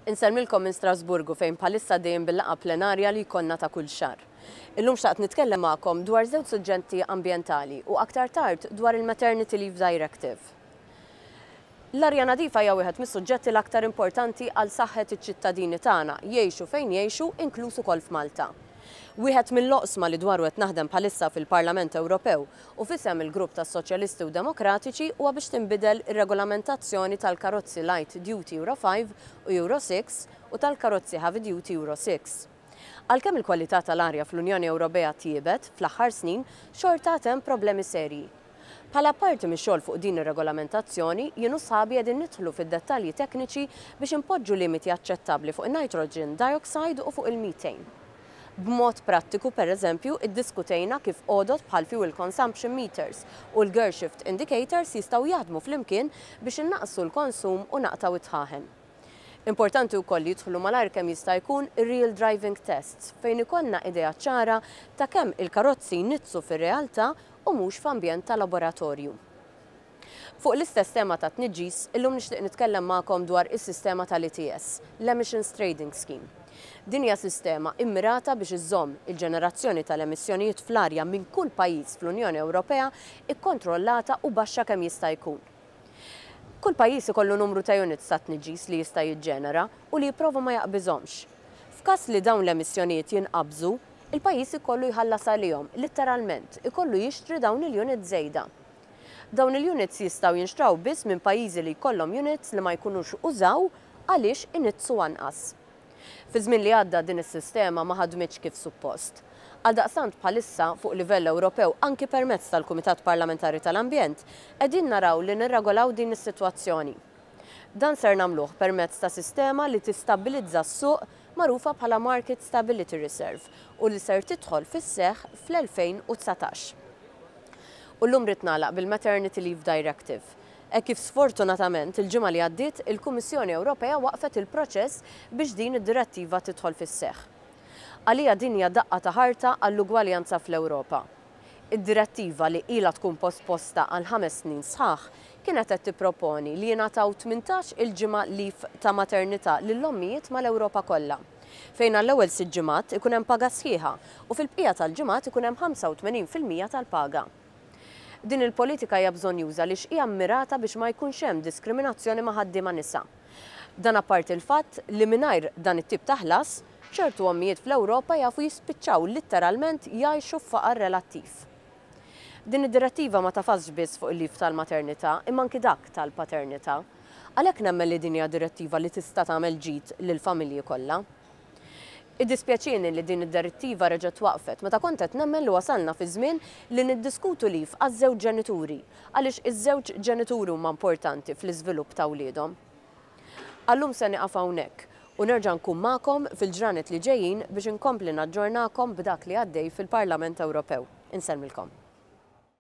Insellmilkom minn Strasburgu fejn bħalissa għaddejjin bil-laqgħa plenarja li jkollna ta' kull xahar. Illum xtaqt nitkellem magħkom dwar żewġ suġġetti ambjentali u aktar tard dwar il-Maternity Leave Directive. L-arja nadifa hija wieħed mis-suġġetti l-aktar importanti għal saħħet iċ-ċittadini tagħna, jgħixu fejn jgħixu, inkluż ukoll f'Malta. Wieħed mill-oqsma li dwaru qed naħdem bħalissa fil-Parlament Ewropew u f'isem il-Grupp tas-Soċjalisti u Demokratiċi huwa biex tinbidel ir-regolamentazzjoni tal-karozzi light duty Euro 5 u Euro 6 u tal-karozzi heavy duty Euro 6. Għalkemm il-kwalità tal-arja fl-Unjoni Ewropea tjiebet fl-aħħar snin, xorta għad hemm problemi serji. Bħala parti mix-xogħol fuq din ir-regolamentazzjoni, jien u sħabi qegħdin nidħlu fid-dettalji tekniċi biex inpoġġu limiti aċċettabbli fuq in-nitrogen dioxide u fuq il-methane. B'mod prattiku, per eżempju, iddiskutejna kif għodod bħal fuel consumption meters u l-gear shift indicators jistgħu jaħdmu flimkien biex innaqqsu l-konsum u naqtgħu d-dħaħen. Importanti wkoll li jidħlu malajr kemm jista' jkun ir-real driving tests fejn ikollna idea ċara ta' kemm il-karozzi jniġġsu fir-realtà u mhux f'ambjent ta' laboratorju. Fuq l-istess tema ta' tniġġis, illum nixtieq nitkellem magħkom dwar is-sistema tal-ETS, l-Emissions Trading Scheme. Din hija sistema immirata biex iżżomm il-ġenerazzjoni tal-emissjonijiet fl-arja minn kull pajjiż fl-Unjoni Ewropea ikkontrollata u baxxa kemm jista' jkun. Kull pajjiż ikollu numru ta' units ta' tniġġis li jista' jiġġenera u li jipprova ma jaqbiżhomx. F'każ li dawn l-emissjonijiet jinqabżu, il-pajjiż ikollu jħallas għalihom, litteralment, ikollu jixtri dawn il-units żejda. Dawn il-units jistgħu jinxtraw biss minn pajjiżi li jkollhom units li ma jkunux użaw għaliex iniġġsu anqas. Fi żmien li għadda din is-sistema ma ħadmitx kif suppost. Għaldaqstant bħalissa fuq livell Ewropew anki permezz tal-Kumitat Parlamentari tal-Ambjent qegħdin naraw li nirregolaw din is-sitwazzjoni. Dan ser nagħmluh permezz ta' sistema li tistabbilizza s-suq magħrufa bħala Market Stability Reserve u li ser tidħol fis-seħħ fl-2019. U llum rrid nagħlaq bil-Maternity Leave Directive. Hekk kif sfortunatament il-ġimgħa li għaddiet il-Kummissjoni Ewropea waqfet il-proċess biex din id-direttiva tidħol fis-seħħ. Għalija din hija daqqa ta' ħarta għall-ugwaljanza fl-Ewropa. Id-direttiva li ilha tkun posposta għal 5 snin sħaħ kienet qed tipproponi li jingħataw 18 il-ġimgħa leave ta' maternità lill-ommijiet mal-Ewropa kollha. Fejn għall-ewwel 6 ġimgħat ikun hemm paga sħiħa u fil-bqija tal-ġimgħat ikun hemm 85% tal-paga. Din il-politika hija bżonnjuża għaliex hija mmirata biex ma jkunx hemm diskriminazzjoni ma' ħaddiema nisa. Dan apparti l-fatt li mingħajr dan it-tip ta' ħlas, ċertu ommijiet fl-Ewropa jafu jispiċċaw litteralment jgħixu f'faqar relattiv. Din id-direttiva ma tafasx biss fuq il-leave tal-maternità imma anki dak tal-paternità. Għalhekk nemmen li din hija direttiva li tista' tagħmel ġid lill-familji kollha. Iddispjaċieni li din id-direttiva reġgħet twaqfet meta kont qed nemmen li wasalna fi żmien li niddiskutu leave għaż-żewġ ġenituri, għaliex iż-żewġ ġenituri huma importanti fl-iżvilupp ta' wliedhom. Għal-lum se nieqaf hawnhekk u nerġa' nkun magħkom fil-ġranet li ġejjin biex inkompli naġġornakom b'dak li għaddej fil-Parlament Ewropew. Insellmilkom.